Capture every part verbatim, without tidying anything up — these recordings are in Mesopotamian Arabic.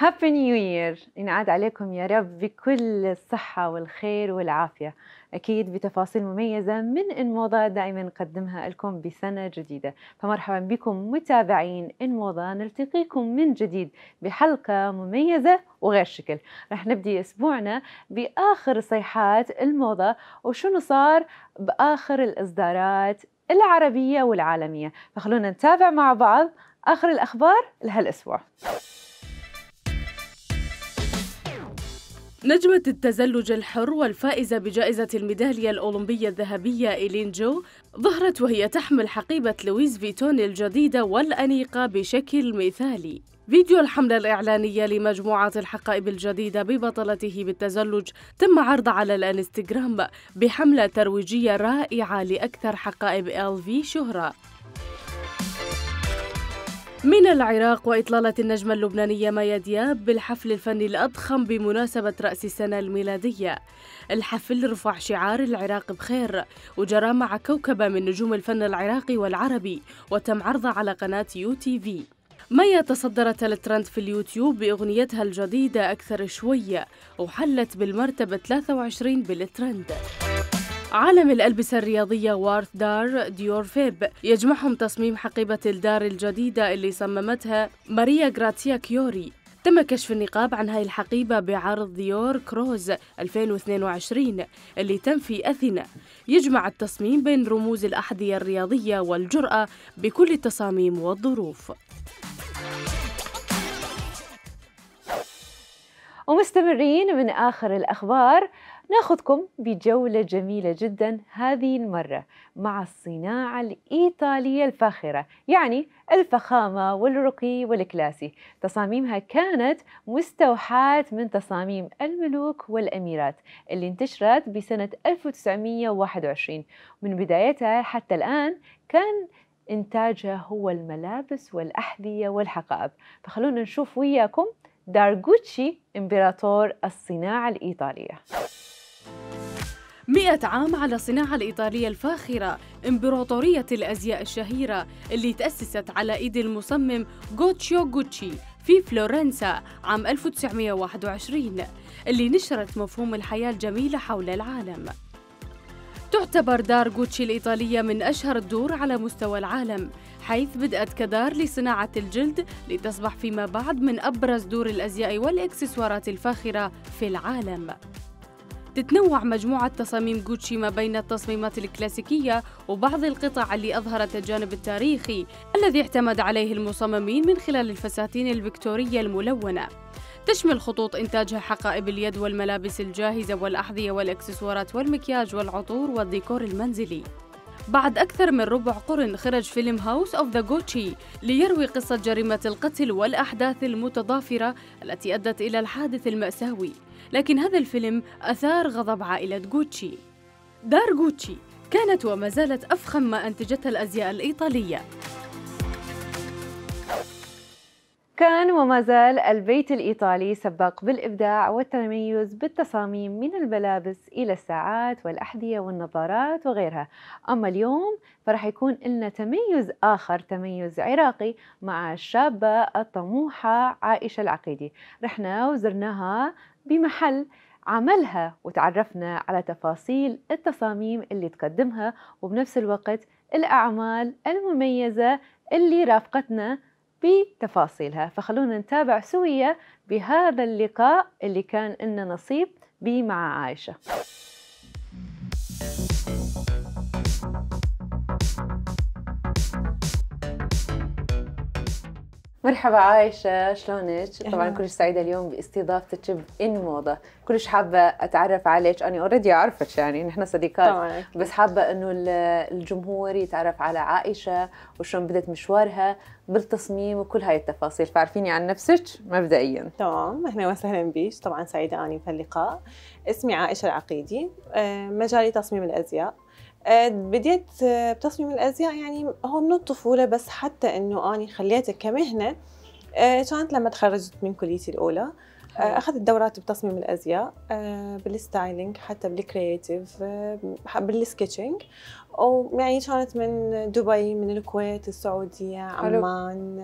هابي نيو يير، ينعاد عليكم يا رب بكل الصحة والخير والعافية، أكيد بتفاصيل مميزة من إنموضة دائما نقدمها لكم بسنة جديدة. فمرحبا بكم متابعين إنموضة، نلتقيكم من جديد بحلقة مميزة وغير شكل. رح نبدي أسبوعنا بآخر صيحات الموضة وشنو صار بآخر الإصدارات العربية والعالمية. فخلونا نتابع مع بعض آخر الأخبار لهالأسبوع. نجمة التزلج الحر والفائزة بجائزة الميدالية الأولمبية الذهبية إيلين جو ظهرت وهي تحمل حقيبة لويس فيتون الجديدة والأنيقة بشكل مثالي. فيديو الحملة الإعلانية لمجموعة الحقائب الجديدة ببطلته بالتزلج تم عرضه على الانستغرام بحملة ترويجية رائعة لأكثر حقائب إل في شهرة. من العراق، وإطلالة النجمة اللبنانية مايا دياب بالحفل الفني الأضخم بمناسبة رأس السنة الميلادية. الحفل رفع شعار العراق بخير وجرى مع كوكبة من نجوم الفن العراقي والعربي، وتم عرضه على قناة يو تي في. مايا تصدرت الترند في اليوتيوب بأغنيتها الجديدة أكثر شوية، وحلت بالمرتبة ثلاثة وعشرين بالترند. عالم الألبسة الرياضية وارث دار ديور فيب يجمعهم تصميم حقيبة الدار الجديدة اللي صممتها ماريا غراتيا كيوري. تم كشف النقاب عن هاي الحقيبة بعرض ديور كروز ألفين واثنين وعشرين اللي تم في أثينا. يجمع التصميم بين رموز الأحذية الرياضية والجرأة بكل التصاميم والظروف. ومستمرين من آخر الأخبار، ناخذكم بجولة جميلة جدا هذه المرة مع الصناعة الإيطالية الفاخرة، يعني الفخامة والرقي والكلاسي. تصاميمها كانت مستوحاة من تصاميم الملوك والأميرات اللي انتشرت بسنة ألف وتسعمئة وواحد وعشرين. من بدايتها حتى الآن كان إنتاجها هو الملابس والأحذية والحقائب. فخلونا نشوف وياكم دار غوتشي إمبراطور الصناعة الإيطالية. مئة عام على الصناعة الإيطالية الفاخرة، إمبراطورية الأزياء الشهيرة اللي تأسست على إيد المصمم غوتشيو غوتشي في فلورنسا عام ألف وتسعمئة وواحد وعشرين، اللي نشرت مفهوم الحياة الجميلة حول العالم. تعتبر دار غوتشي الإيطالية من أشهر الدور على مستوى العالم، حيث بدأت كدار لصناعة الجلد لتصبح فيما بعد من أبرز دور الأزياء والإكسسوارات الفاخرة في العالم. تتنوع مجموعة تصاميم غوتشي ما بين التصميمات الكلاسيكية وبعض القطع اللي أظهرت الجانب التاريخي الذي اعتمد عليه المصممين من خلال الفساتين الفيكتورية الملونة. تشمل خطوط إنتاجها حقائب اليد والملابس الجاهزة والأحذية والإكسسوارات والمكياج والعطور والديكور المنزلي. بعد أكثر من ربع قرن خرج فيلم هاوس أوف ذا غوتشي ليروي قصة جريمة القتل والأحداث المتضافرة التي أدت إلى الحادث المأساوي، لكن هذا الفيلم أثار غضب عائلة غوتشي. دار غوتشي كانت وما زالت أفخم ما أنتجتها الأزياء الإيطالية. كان وما زال البيت الإيطالي سباق بالإبداع والتميز بالتصاميم من الملابس إلى الساعات والأحذية والنظارات وغيرها. أما اليوم فرح يكون لنا تميز آخر، تميز عراقي مع الشابة الطموحة عائشة العقيدي. رحنا وزرناها بمحل عملها وتعرفنا على تفاصيل التصاميم اللي تقدمها وبنفس الوقت الأعمال المميزة اللي رافقتنا بتفاصيلها. فخلونا نتابع سوية بهذا اللقاء اللي كان لنا نصيب به مع عائشة. مرحبا عائشة، شلونك؟ طبعا كلش سعيدة اليوم باستضافتك بإنموضة. كلش حابة أتعرف عليك، أنا أوريدي أعرفك يعني نحن صديقات طبعا. بس حابة إنه الجمهور يتعرف على عائشة وشلون بدت مشوارها بالتصميم وكل هاي التفاصيل. فعرفيني عن نفسك مبدئيا. تمام، أهلا وسهلا بيك. طبعا سعيدة أني في اللقاء. اسمي عائشة العقيدي، مجالي تصميم الأزياء. بديت بتصميم الأزياء يعني هو من الطفولة، بس حتى إنه أنا خليته كمهنة كانت لما تخرجت من كليتي الأولى. أخذت دورات بتصميم الأزياء، بالستايلينج، حتى بالكرياتيف، بالسكتشنج. ويعني كانت من دبي، من الكويت، السعودية، عمان،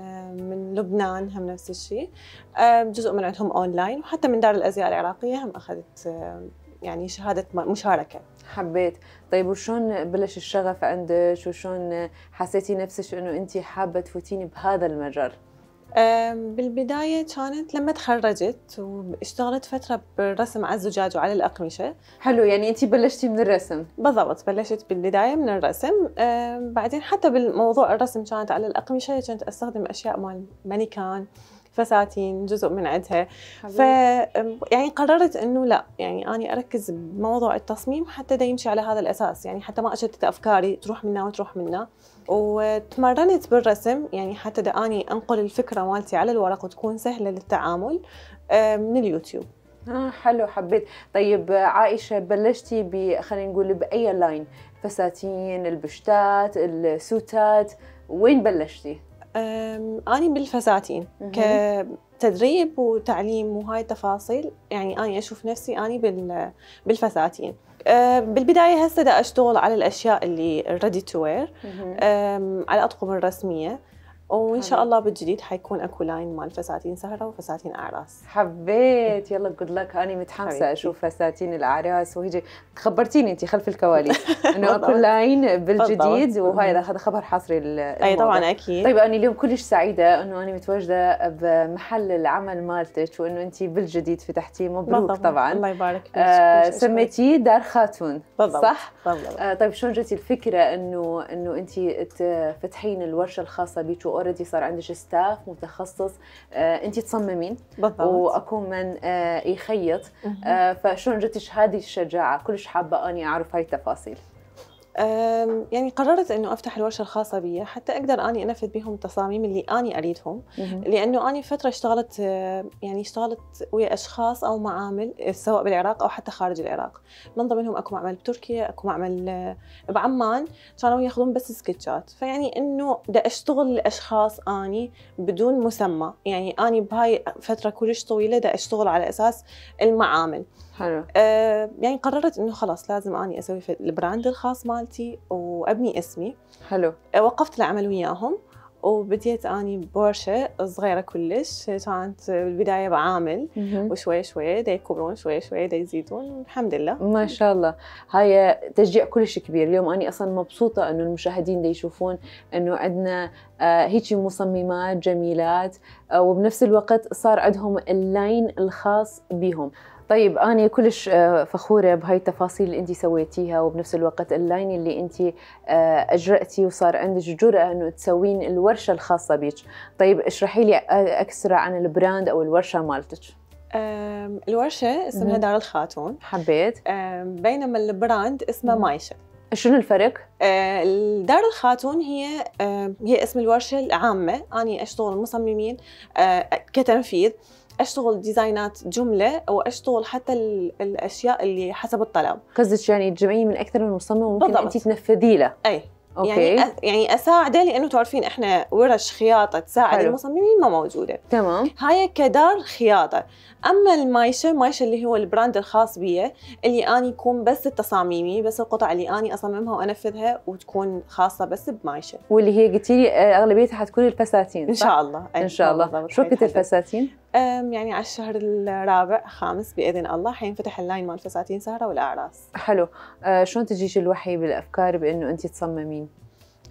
من لبنان هم نفس الشيء. جزء من عندهم أونلاين، وحتى من دار الأزياء العراقية هم أخذت يعني شهادة مشاركة. حبيت. طيب وشون بلش الشغف عندك، وشون حسيتي نفسك إنه أنتي حابة تفوتيني بهذا المجال؟ بالبداية كانت لما تخرجت واشتغلت فترة بالرسم على الزجاج وعلى الأقمشة. حلو، يعني أنتي بلشتي من الرسم؟ بالضبط، بلشت بالبداية من الرسم. بعدين حتى بالموضوع الرسم كانت على الأقمشة، كنت أستخدم أشياء مال مانيكان، فساتين، جزء من عندها. ف يعني قررت انه لا، يعني اني اركز بموضوع التصميم حتى دا يمشي على هذا الاساس، يعني حتى ما اشتت افكاري تروح منا وتروح منا. وتمرنت بالرسم يعني حتى دا اني انقل الفكره مالتي على الورق وتكون سهله للتعامل من اليوتيوب. اه حلو، حبيت. طيب عائشه، بلشتي ب خلينا نقول باي لاين؟ فساتين، البشتات، السوتات، وين بلشتي؟ أنا بالفساتين كتدريب وتعليم وهاي التفاصيل. يعني أنا أشوف نفسي أنا بالفساتين. بالبداية هسه دا أشتغل على الأشياء اللي ready to wear، على الأطقم الرسمية، وإن شاء الله بالجديد حيكون أكو لاين مال فساتين سهرة وفساتين أعراس. حبيت. يلا جود لك. أنا متحمسة أشوف فساتين الأعراس، وهيجي خبرتيني أنت خلف الكواليس إنه أكو لاين بالجديد، وهاي هذا خبر حصري. أي طبعا أكيد. طيب أنا اليوم كلش سعيدة إنه أنا متواجدة بمحل العمل مالتك، وإنه أنت بالجديد فتحتي. مبروك. بالضبط. طبعا الله يبارك فيك. آه سميتيه دار خاتون. بالضبط. صح؟ بالضبط. آه طيب شلون جتي الفكرة إنه إنه أنت تفتحين الورشة الخاصة بيك، اوريدي صار عندك ستاف متخصص، آه، انت تصممين؟ بالضبط. واكو من آه، يخيط. آه، فشلون جتش هذه الشجاعه؟ كلش حابه اني اعرف هاي التفاصيل. يعني قررت انه افتح الورشه الخاصه بي حتى اقدر اني انفذ بهم التصاميم اللي اني اريدهم. لانه اني فتره اشتغلت، يعني اشتغلت ويا اشخاص او معامل سواء بالعراق او حتى خارج العراق. من ضمنهم اكو معمل بتركيا، اكو معمل بعمان، كانوا ياخذون بس سكتشات. فيعني انه بدي اشتغل لاشخاص اني بدون مسمى. يعني اني بهاي فتره كلش طويله بدي اشتغل على اساس المعامل. حلو. آه يعني قررت انه خلاص لازم اني اسوي البراند الخاص مالتي وابني اسمي. حلو. آه وقفت العمل وياهم وبديت اني بورشه صغيره كلش. كانت بالبدايه بعامل وشوي شوي دا يكبرون، شوي شوي دا يزيدون، الحمد لله ما شاء الله. هاي تشجيع كلش كبير. اليوم اني اصلا مبسوطه انه المشاهدين دا يشوفون انه عندنا آه هيك مصممات جميلات، آه وبنفس الوقت صار عندهم اللاين الخاص بهم. طيب أنا كلش فخورة بهاي التفاصيل اللي أنتي سويتيها، وبنفس الوقت اللاين اللي أنتي أجرأتي وصار عندك جرأة إنه تسوين الورشة الخاصة بيك. طيب اشرحي لي أكثر عن البراند أو الورشة مالتك. الورشة اسمها دار الخاتون. حبيت. بينما البراند اسمه مايشة. شنو الفرق؟ دار الخاتون هي هي اسم الورشة العامة. أنا أشتغل مصممين كتنفيذ، اشتغل ديزاينات جمله، واشتغل حتى الاشياء اللي حسب الطلب. قصدك يعني تجمعيه من اكثر من مصمم وممكن انت تنفذي له. اي أوكي. يعني أ... يعني اساعده، لانه تعرفين احنا ورش خياطه تساعد حلو. المصممين ما موجوده. تمام. هاي كدار خياطه. اما المايشه، مايشه اللي هو البراند الخاص بي، اللي اني يكون بس التصاميمي، بس القطع اللي اني اصممها وانفذها وتكون خاصه بس بمايشه. واللي هي قلتي لي اغلبيتها حتكون الفساتين. ان شاء الله. ان شاء الله. شو وقت الفساتين؟ يعني على الشهر الرابع خامس باذن الله حينفتح اللاين مال فساتين سهره والاعراس. حلو. آه شلون تجيش الوحي بالافكار بانه انت تصممين؟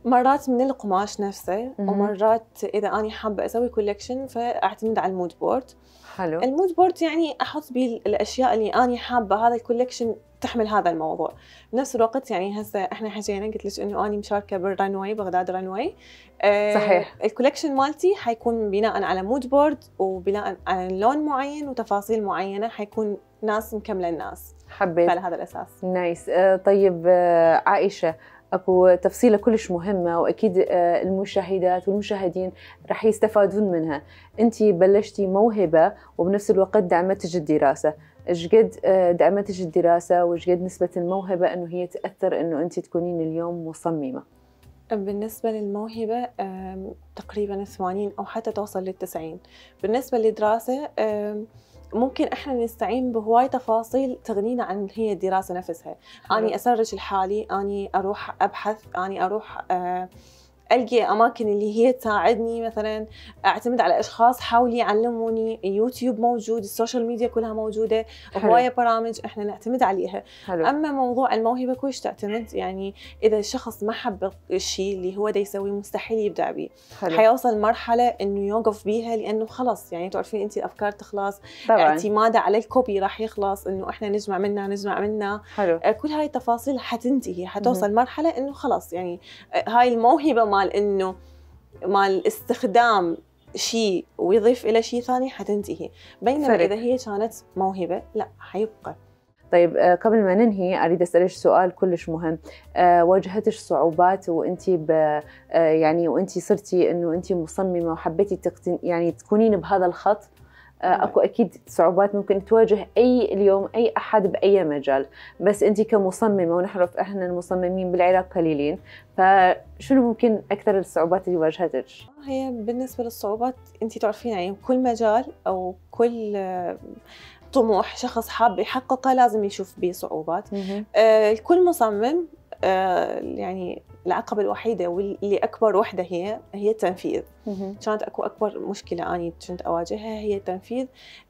مرات من القماش نفسه، ومرات اذا اني حابه اسوي كولكشن فاعتمد على المود بورد. حلو. المود بورد يعني احط بيه الاشياء اللي اني حابه هذا الكولكشن تحمل هذا الموضوع. بنفس الوقت يعني هسه احنا حكينا، قلت لك انه اني مشاركه بالرنوي، بغداد رنوي. أه صحيح. الكولكشن مالتي حيكون بناء على مود بورد، وبناء على لون معين وتفاصيل معينه، حيكون ناس مكمله الناس. حبيت. على هذا الاساس. نايس. أه طيب أه عائشه، اكو تفصيله كلش مهمه، واكيد المشاهدات والمشاهدين رح يستفادون منها. انت بلشتي موهبه وبنفس الوقت دعمتك الدراسه. ايش قد دعمتك الدراسه وايش قد نسبه الموهبه انه هي تاثر انه انت تكونين اليوم مصممه؟ بالنسبه للموهبه تقريبا ثمانين او حتى توصل للتسعين. بالنسبه للدراسه ممكن احنا نستعين بهواي تفاصيل تغنينا عن هي الدراسه نفسها. حلو. اني اسرج لحالي، اني اروح ابحث، اني اروح آه ألقي أماكن اللي هي تساعدني، مثلا أعتمد على أشخاص حاولي يعلموني، يوتيوب موجود، السوشيال ميديا كلها موجودة، هواية برامج إحنا نعتمد عليها. حلو. أما موضوع الموهبة كلش تعتمد، يعني إذا الشخص ما حب الشيء اللي هو دا يسويه مستحيل يبدع به. حيوصل مرحلة إنه يوقف بيها، لأنه خلص يعني تعرفين أنت الأفكار تخلص، طبعاً. اعتماده على الكوبي راح يخلص، إنه إحنا نجمع منا نجمع منا. حلو. كل هاي التفاصيل حتنتهي، حتوصل مرحلة إنه خلص يعني هاي الموهبة مال إنه مال استخدام شيء ويضيف إلى شيء ثاني حتنتهي، بينما فرق. إذا هي كانت موهبة لا حيبقى. طيب قبل ما ننهي أريد أسألك سؤال كلش مهم. أه واجهتش صعوبات وأنتي أه يعني وأنتي صرتي إنه أنتي مصممة وحبيتي تقتن يعني تكونين بهذا الخط؟ اكو اكيد صعوبات ممكن تواجه اي اليوم اي احد باي مجال، بس انت كمصممه ونعرف احنا المصممين بالعراق قليلين، فشنو ممكن اكثر الصعوبات اللي واجهتك؟ هي بالنسبه للصعوبات انت تعرفين يعني كل مجال او كل طموح شخص حاب يحققه لازم يشوف به صعوبات. آه كل مصمم آه يعني العقبة الوحيدة واللي أكبر وحدة هي هي التنفيذ. كانت أكو أكبر مشكلة أني كنت أواجهها هي تنفيذ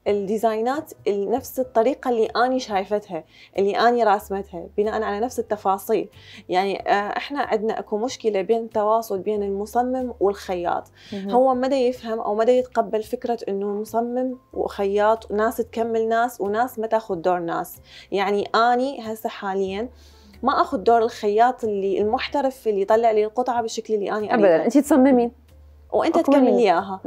الديزاينات نفس الطريقة اللي أني شايفتها، اللي أني راسمتها بناء على نفس التفاصيل. يعني إحنا عندنا أكو مشكلة بين التواصل بين المصمم والخياط. هو مدى يفهم أو مدى يتقبل فكرة إنه مصمم وخياط ناس تكمل ناس وناس ما تاخذ دور ناس. يعني أني هسه حالياً ما اخذ دور الخياط اللي المحترف اللي يطلع لي القطعه بالشكل اللي انا اريده. ابدا، انت تصممين وانت تكمل لي اياها.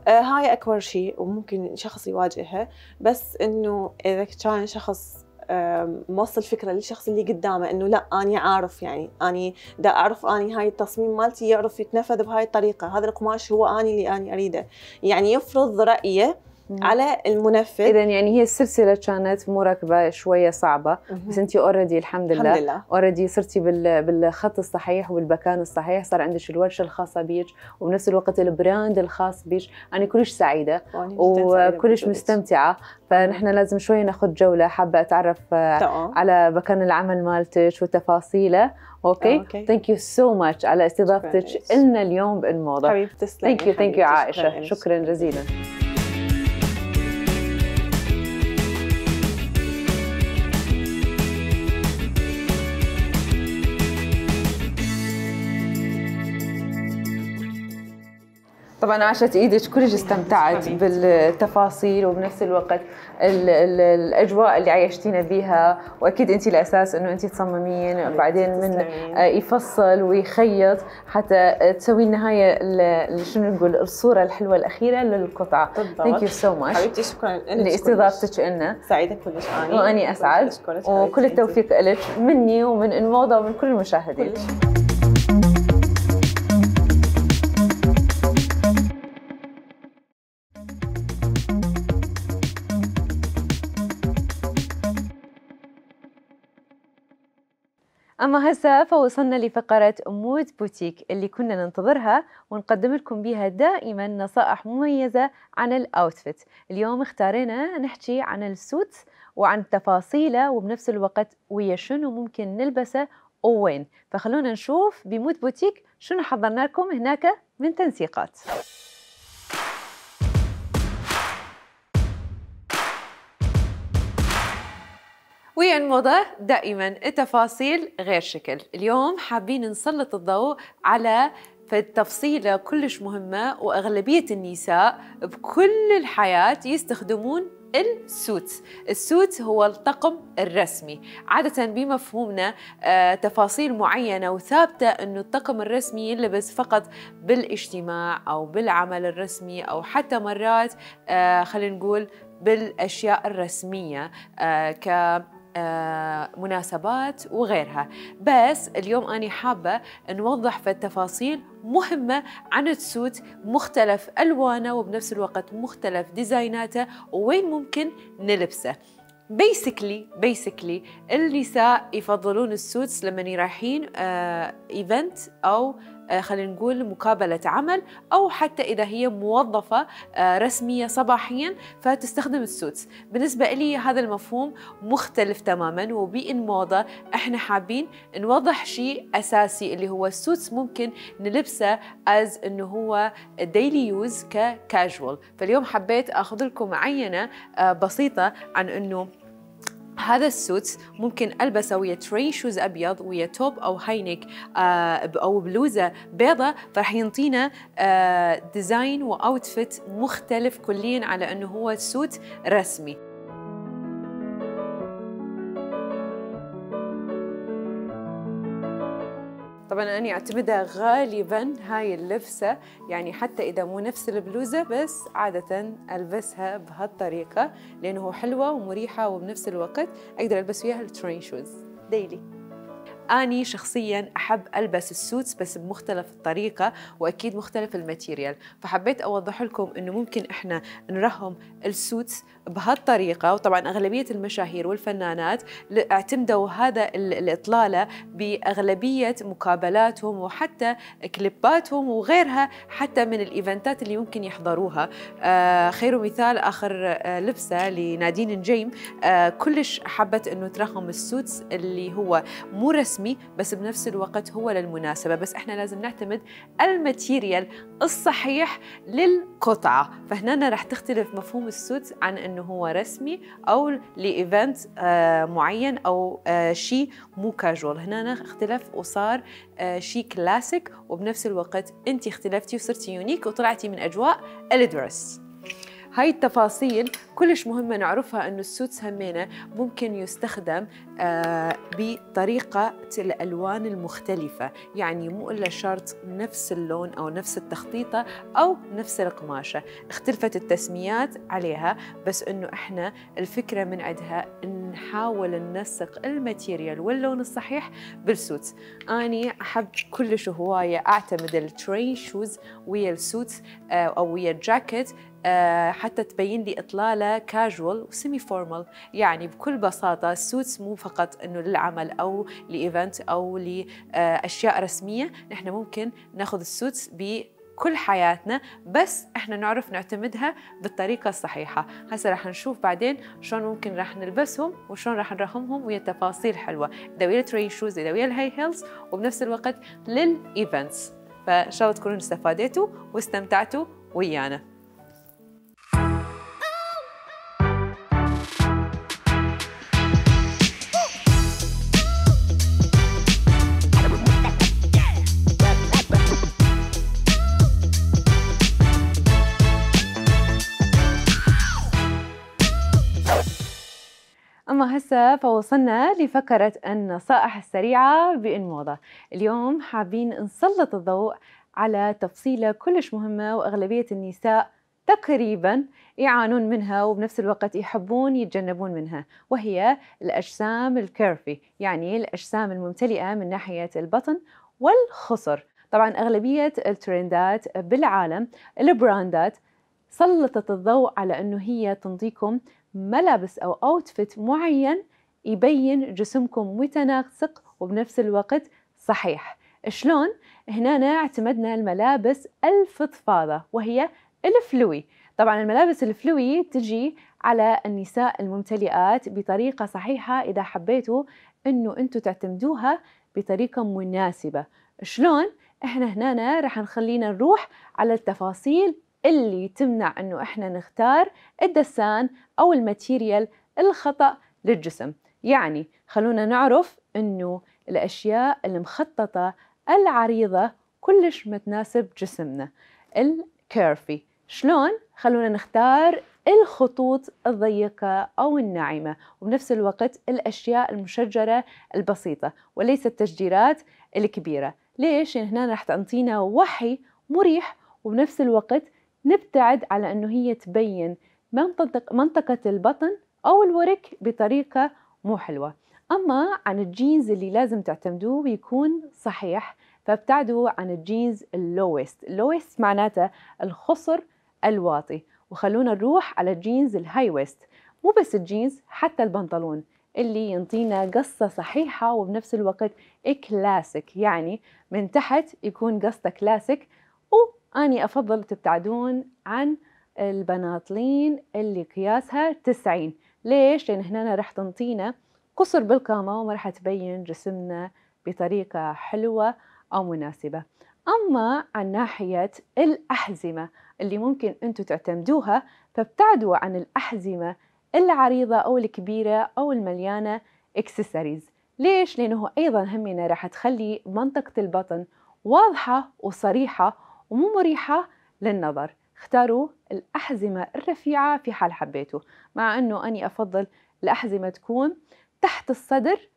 آه هاي اكبر شيء وممكن شخص يواجهها، بس انه اذا كان شخص آه موصل فكره للشخص اللي قدامه انه لا اني عارف، يعني اني دا اعرف اني هاي التصميم مالتي يعرف يتنفذ بهاي الطريقه، هذا القماش هو اني اللي اني اريده، يعني يفرض رايه على المنفذ. إذا يعني هي السلسلة كانت مو راكبة شوية صعبة، بس أنتِ أوريدي الحمد لله الحمد لله أوريدي صرتي بال بالخط الصحيح وبالمكان الصحيح، صار عندك الورشة الخاصة بيك وبنفس الوقت البراند الخاص بيك. أنا كلش سعيدة وكلش مستمتعة، فنحن لازم شوية ناخذ جولة، حابة أتعرف طبعا على مكان العمل مالتك وتفاصيله. اوكي ثانك يو سو ماتش على استضافتك لنا اليوم بالموضة. حبيبتي تسلمي. ثانك يو ثانك يو عائشة، شكرا جزيلا. طبعا عاشت ايدك، كلش استمتعت بالتفاصيل وبنفس الوقت ال ال الاجواء اللي عايشتينا بيها، واكيد انت الاساس انه انت تصممين بعدين من يفصل ويخيط حتى تسوي النهايه شنو نقول الصوره الحلوه الاخيره للقطعه. ثانك يو سو ماتش حبيبتي، شكرا لاستضافتك لنا. سعيده كلش اني واني اسعد، وكل التوفيق لك مني ومن الموضه ومن كل المشاهدين. أما هسه فوصلنا لفقرة مود بوتيك اللي كنا ننتظرها ونقدم لكم بها دائما نصائح مميزة عن الأوتفيت. اليوم اختارينا نحكي عن السوت وعن تفاصيله وبنفس الوقت ويا شنو ممكن نلبسه ووين. فخلونا نشوف بمود بوتيك شنو حضرنا لكم هناك من تنسيقات. ويا الموضة دائما التفاصيل غير شكل. اليوم حابين نسلط الضوء على تفصيلة كلش مهمة، وأغلبية النساء بكل الحياة يستخدمون السوت. السوت هو الطقم الرسمي، عادة بمفهومنا آه تفاصيل معينة وثابتة أنه الطقم الرسمي يلبس فقط بالاجتماع أو بالعمل الرسمي، أو حتى مرات آه خلينا نقول بالأشياء الرسمية آه ك آه مناسبات وغيرها. بس اليوم أنا حابة نوضح في التفاصيل مهمة عن السوت، مختلف ألوانه وبنفس الوقت مختلف ديزايناته ووين ممكن نلبسه. بيسكلي بيسكلي النساء يفضلون السوتس لما رايحين آه ايفنت أو خلينا نقول مقابلة عمل، أو حتى إذا هي موظفة رسمية صباحيا فتستخدم السوتس. بالنسبة لي هذا المفهوم مختلف تماما، وبإن موضة احنا حابين نوضح شيء أساسي اللي هو السوتس ممكن نلبسه از انه هو ديلي يوز ككاجوال. فاليوم حبيت اخذ لكم عينة بسيطة عن انه هذا السوت ممكن ألبسه ويا ترين شوز أبيض، ويا توب أو هاينك أو بلوزة بيضة، فرح ينطينا ديزاين وأوتفيت مختلف كليا على أنه هو سوت رسمي. طبعا أنا أعتمدها غالبا هاي اللبسة، يعني حتى إذا مو نفس البلوزة بس عادة ألبسها بهالطريقة لأنه حلوة ومريحة، وبنفس الوقت أقدر ألبس فيها الترين شوز ديلي. أني شخصياً أحب ألبس السوتس بس بمختلف الطريقة، وأكيد مختلف الماتيريال، فحبيت أوضح لكم إنه ممكن إحنا نرهم السوتس بهالطريقة. وطبعاً أغلبية المشاهير والفنانات اعتمدوا هذا الإطلالة بأغلبية مقابلاتهم وحتى كليباتهم وغيرها، حتى من الإيفنتات اللي ممكن يحضروها. آه خير مثال آخر آه لبسة لنادين نجيم، آه كلش حبت إنه ترهم السوتس اللي هو مو رسمي بس بنفس الوقت هو للمناسبة، بس احنا لازم نعتمد الماتيريال الصحيح للقطعة. فهنا راح تختلف مفهوم السوت عن انه هو رسمي او لايفنت آه معين او آه شيء مو كاجوال. هنا اختلف وصار آه شيء كلاسيك، وبنفس الوقت انت اختلفتي وصرتي يونيك وطلعتي من اجواء الدرس. هاي التفاصيل كلش مهمة نعرفها، أنه السوتس همينة ممكن يستخدم آه بطريقة الألوان المختلفة، يعني مو إلا شرط نفس اللون أو نفس التخطيطة أو نفس القماشة، اختلفت التسميات عليها، بس أنه إحنا الفكرة من عندها نحاول ننسق الماتيريال واللون الصحيح بالسوتس. أني أحب كلش هواية أعتمد الترين شوز ويا السوتس آه أو ويا الجاكيت، أه حتى تبين لي إطلالة كاجوال وسيمي فورمال. يعني بكل بساطة السوتس مو فقط إنه للعمل أو لإيفنت أو لأشياء رسمية، نحن ممكن ناخذ السوتس بكل حياتنا، بس إحنا نعرف نعتمدها بالطريقة الصحيحة. هسه راح نشوف بعدين شلون ممكن راح نلبسهم وشلون راح نرهمهم ويا تفاصيل حلوة، إذا ويا الترين شوز إذا ويا الهاي هيلز، وبنفس الوقت للإيفنتس. فإن شاء الله تكونوا استفادتوا واستمتعتوا ويانا. أما هسه فوصلنا لفقرة النصائح السريعة بإن موضة. اليوم حابين نسلط الضوء على تفصيلة كلش مهمة وأغلبية النساء تقريبا يعانون منها وبنفس الوقت يحبون يتجنبون منها، وهي الأجسام الكيرفي، يعني الأجسام الممتلئة من ناحية البطن والخصر. طبعا أغلبية الترندات بالعالم البراندات سلطت الضوء على أنه هي تنطيكم ملابس أو أوتفيت معين يبين جسمكم متناسق وبنفس الوقت صحيح. شلون؟ هنا اعتمدنا الملابس الفضفاضة وهي الفلوي. طبعا الملابس الفلوي تجي على النساء الممتلئات بطريقة صحيحة إذا حبيتوا أنه أنتوا تعتمدوها بطريقة مناسبة. شلون؟ احنا هنا راح نخلينا نروح على التفاصيل اللي تمنع أنه إحنا نختار الدسان أو الماتيريال الخطأ للجسم. يعني خلونا نعرف أنه الأشياء المخططة العريضة كلش ما تناسب جسمنا الكيرفي. شلون؟ خلونا نختار الخطوط الضيقة أو الناعمة، وبنفس الوقت الأشياء المشجرة البسيطة وليس التشجيرات الكبيرة. ليش؟ يعني هنا راح تعطينا وحي مريح، وبنفس الوقت نبتعد على أنه هي تبين منطقة, منطقة البطن أو الورك بطريقة مو حلوة. أما عن الجينز اللي لازم تعتمدوه ويكون صحيح، فابتعدوا عن الجينز اللويست. اللويست معناته الخصر الواطي، وخلونا نروح على الجينز الهاي ويست. مو بس الجينز، حتى البنطلون اللي ينطينا قصة صحيحة وبنفس الوقت كلاسيك، يعني من تحت يكون قصة كلاسيك. وأني أفضل تبتعدون عن البناطلين اللي قياسها تسعين. ليش؟ لأن هنا راح تنطينا قصر بالقامة وما راح تبين جسمنا بطريقة حلوة أو مناسبة. أما عن ناحية الأحزمة اللي ممكن أنتوا تعتمدوها، فابتعدوا عن الأحزمة العريضة أو الكبيرة أو المليانة إكسسوارز. ليش؟ لأنه أيضا همنا راح تخلي منطقة البطن واضحة وصريحة ومو مريحة للنظر. اختاروا الأحزمة الرفيعة في حال حبيتوا، مع أنه أني أفضل الأحزمة تكون تحت الصدر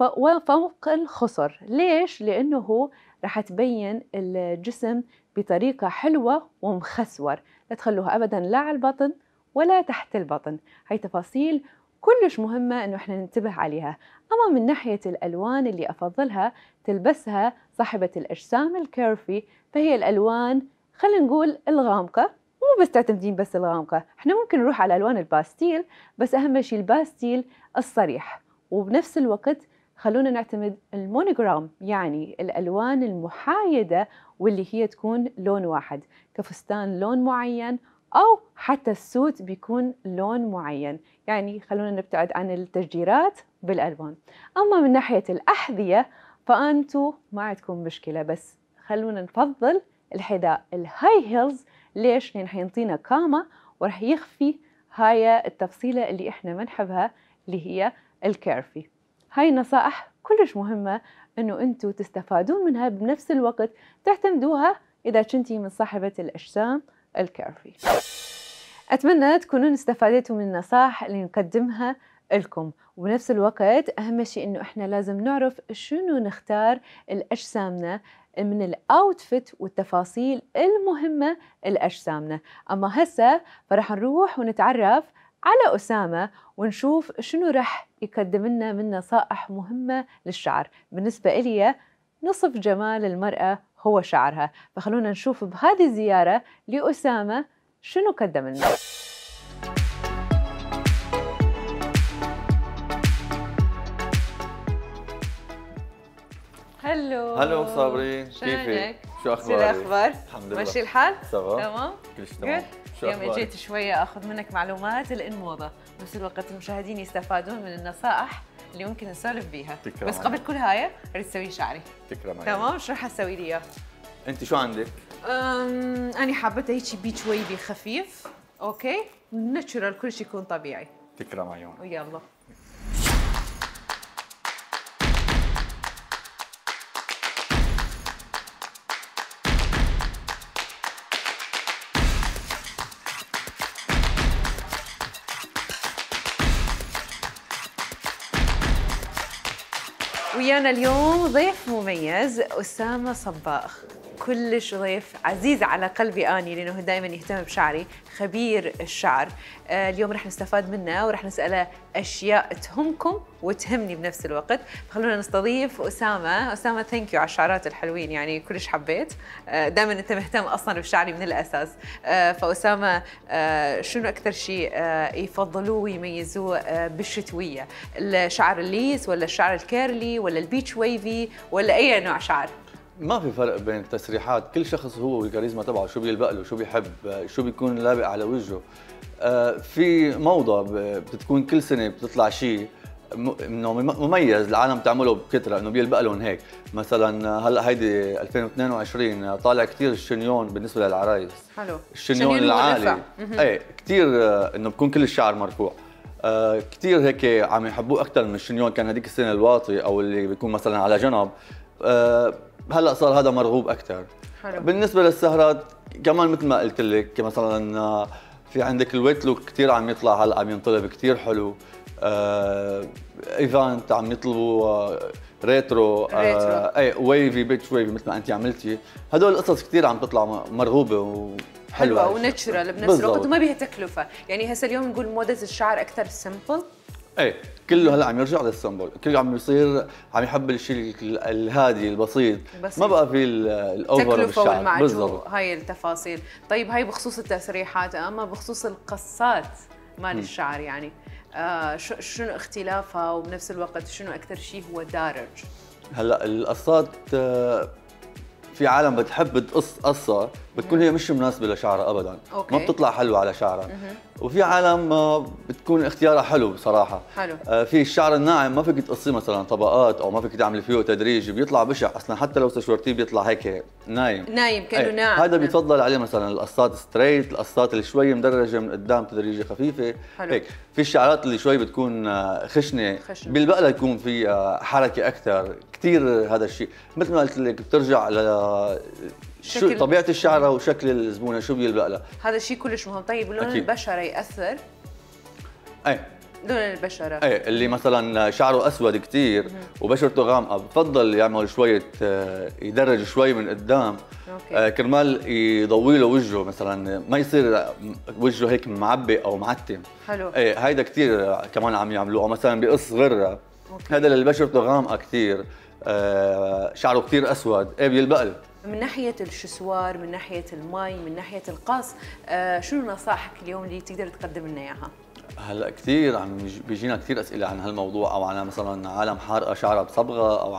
وفوق الخصر. ليش؟ لأنه راح تبين الجسم بطريقة حلوة ومخسور. لا تخلوها أبداً لا على البطن ولا تحت البطن. هاي تفاصيل كلش مهمة إنه إحنا ننتبه عليها. أما من ناحية الألوان اللي أفضلها تلبسها صاحبة الأجسام الكيرفي، فهي الألوان خلينا نقول الغامقة. مو بس تعتمدين بس الغامقة، إحنا ممكن نروح على ألوان الباستيل، بس أهم شيء الباستيل الصريح. وبنفس الوقت خلونا نعتمد المونوغرام، يعني الألوان المحايدة واللي هي تكون لون واحد، كفستان لون معين أو حتى السوت بيكون لون معين. يعني خلونا نبتعد عن التشجيرات بالألوان. أما من ناحية الأحذية فأنتوا ما عندكم مشكلة، بس خلونا نفضل الحذاء الهاي هيلز. ليش؟ لأن حينطينا قامة ورح يخفي هاي التفصيلة اللي إحنا منحبها اللي هي الكيرفي. هاي نصائح كلش مهمة إنه أنتوا تستفادون منها، بنفس الوقت تعتمدوها إذا كنتي من صاحبة الأجسام الكيرفي. أتمنى تكونون استفادتوا من النصائح اللي نقدمها لكم، وبنفس الوقت أهم شيء إنه إحنا لازم نعرف شنو نختار لأجسامنا من الأوتفيت والتفاصيل المهمة لأجسامنا. أما هسه فرح نروح ونتعرف على أسامة ونشوف شنو رح يقدم لنا من نصائح مهمة للشعر. بالنسبة إلي نصف جمال المرأة هو شعرها، فخلونا نشوف بهذه الزيارة لأسامة شنو قدم لنا. هلو هلو صابري، كيفك؟ شو اخبارك؟ شو الاخبار؟ الحمد لله ماشي الحال؟ تمام كلش تمام. شو اليوم اخبارك؟ اجيت شويه اخذ منك معلومات الموضه، بنفس الوقت المشاهدين يستفادون من النصائح اللي ممكن نسولف بيها. تكرم بس قبل كل هاي اريد اسوي شعري. تكرم. تمام، شو رح اسوي لي اياه؟ انت شو عندك؟ أم... انا حابته هيك بيتش ويفي خفيف، اوكي؟ ناتشورال، كل شيء يكون طبيعي. تكرم عيون. ويلا. ويانا اليوم ضيف مميز، أسامة صباغ. كلش ضيف عزيز على قلبي أني، لأنه دائما يهتم بشعري، خبير الشعر. آه اليوم رح نستفاد منه ورح نسأله أشياء تهمكم وتهمني بنفس الوقت. خلونا نستضيف أسامة. أسامة ثانك يو على الشعرات الحلوين، يعني كلش حبيت. آه دائما أنت مهتم أصلا بشعري من الأساس. آه فأسامة، آه شنو أكثر شيء آه يفضلوه ويميزوه آه بالشتوية؟ الشعر الليس ولا الشعر الكيرلي ولا البيتش ويفي ولا أي نوع شعر؟ ما في فرق بين التسريحات، كل شخص هو والكاريزما تبعه، شو بيلبق له، شو بيحب، شو بيكون لابق على وجهه. آه في موضة بتكون كل سنة بتطلع شيء انه مميز، العالم تعمله بكثره انه بيلبق لهم هيك. مثلا هلا هيدي ألفين واثنين وعشرين طالع كثير الشنيون بالنسبه للعرايس. حلو. الشنيون العالي ايه كثير، انه بكون كل الشعر مرفوع. آه كثير هيك عم يحبوه اكثر من الشنيون كان هذيك السنه الواطي او اللي بيكون مثلا على جنب. آه هلا صار هذا مرغوب اكثر. حلو. بالنسبه للسهرات كمان مثل ما قلت لك، مثلا في عندك الويت لوك كثير عم يطلع هلا، عم ينطلب كثير حلو. آه ايفنت عم يطلبوا آه ريترو, ريترو. آه اي ويفي بيتش ويفي مثل ما انت عملتي. هدول القصص كثير عم تطلع مرغوبه وحلوه حلوه وناتشرال بنفس الوقت وما بيها تكلفه. يعني هسه اليوم نقول موضه الشعر اكثر سمبل. ايه كله هلا عم يرجع للسمبل، كله عم يصير عم يحب الشيء الهادي البسيط، بسيط. ما بقى في الاوفر بالشعر. بالضبط، هاي التفاصيل. طيب هاي بخصوص التسريحات، اما بخصوص القصات مال الشعر يعني آه شنو اختلافها، وبنفس الوقت شنو اكثر شيء هو دارج؟ هلا القصات في عالم بتحب تقص قصه بتكون هي مش مناسبه لشعرها ابدا، أوكي. ما بتطلع حلوه على شعرها. وفي عالم بتكون اختيارها حلو بصراحه. حلو. في الشعر الناعم ما فيك تقصيه مثلا طبقات، او ما فيك تعملي فيه تدريج، بيطلع بشع اصلا، حتى لو استشورتيه بيطلع هيك نايم نايم كانه ناعم. هذا بيتفضل عليه مثلا القصات ستريت، القصات اللي شوي مدرجه من قدام تدريجه خفيفه. حلو. هيك في الشعرات اللي شوي بتكون خشنه, خشنة. بالبقله يكون في حركه اكثر كثير. هذا الشيء مثل ما قلت لك بترجع ل شو طبيعه الشعره وشكل الزبونه شو بيلبق لها. هذا الشيء كلش مهم. طيب لون أكيد. البشره ياثر؟ اي لون البشره اي اللي مثلا شعره اسود كثير وبشرته غامقه بفضل يعمل شويه يدرج شوي من قدام. أوكي. كرمال يضوي له وجهه، مثلا ما يصير وجهه هيك معبي او معتم. حلو. اي هيدا كثير كمان عم يعملوه، او مثلا بقص غره. هذا اللي بشرته غامقه كثير، آه شعره كثير اسود، ايه بيلبق له. من ناحيه الشسوار، من ناحيه المي، من ناحيه القص، آه شنو نصائحك اليوم اللي تقدر تقدم لنا اياها؟ هلا كثير عم بيجينا كثير اسئله عن هالموضوع، او عن مثلا عالم حارقه شعرها بصبغه، او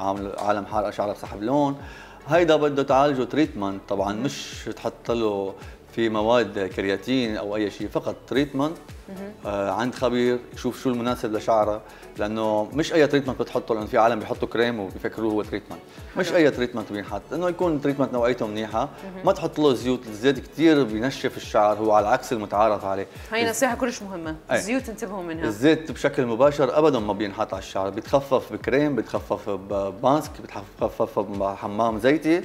عالم حارقه شعرها بسحب لون. هيدا بده تعالجه تريتمنت طبعا، مش تحط له في مواد كرياتين او اي شيء، فقط تريتمنت آه عند خبير يشوف شو المناسب لشعرها، لانه مش اي تريتمنت بتحطه، لانه في عالم بيحطوا كريم وبيفكروه هو تريتمنت. مش اي تريتمنت بينحط، انه يكون تريتمنت نوعيته منيحه. ما تحط له زيوت، الزيت كثير بينشف الشعر، هو على عكس المتعارف عليه. هي نصيحه كلش مهمه، الزيوت انتبهوا منها. الزيت بشكل مباشر ابدا ما بينحط على الشعر، بيتخفف بكريم، بيتخفف بماسك، بيتخفف بحمام زيتي،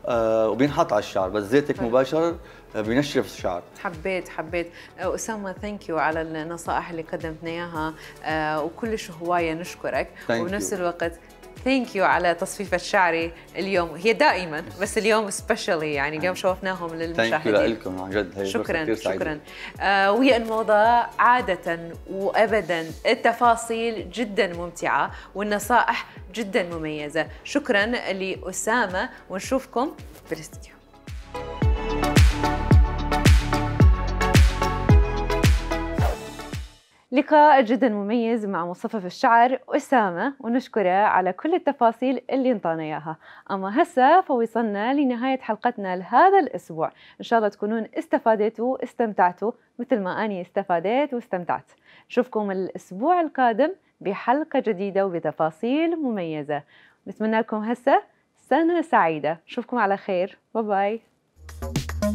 آه وبينحط على الشعر، بس زيت هيك مباشر بينشف الشعر. حبيت حبيت اسامه، ثانك يو على النصائح اللي قدمتنا اياها، آه وكلش هوايه نشكرك. وبنفس الوقت ثانك يو على تصفيفه شعري اليوم، هي دائما بس اليوم سبيشالي، يعني اليوم شوفناهم للمشاهدين. ثانك يو لكم عن جد، هي شكرا شكرا. آه وهي الموضه عاده وابدا التفاصيل جدا ممتعه والنصائح جدا مميزه. شكرا لاسامه، ونشوفكم في الاستديو. لقاء جدا مميز مع مصفف الشعر أسامة، ونشكره على كل التفاصيل اللي انطانا اياها. اما هسه فوصلنا لنهاية حلقتنا لهذا الاسبوع، ان شاء الله تكونون استفادتوا واستمتعتوا مثل ما اني استفادت واستمتعت. نشوفكم الاسبوع القادم بحلقة جديدة وبتفاصيل مميزة. نتمنى لكم هسه سنة سعيدة، نشوفكم على خير، باي باي.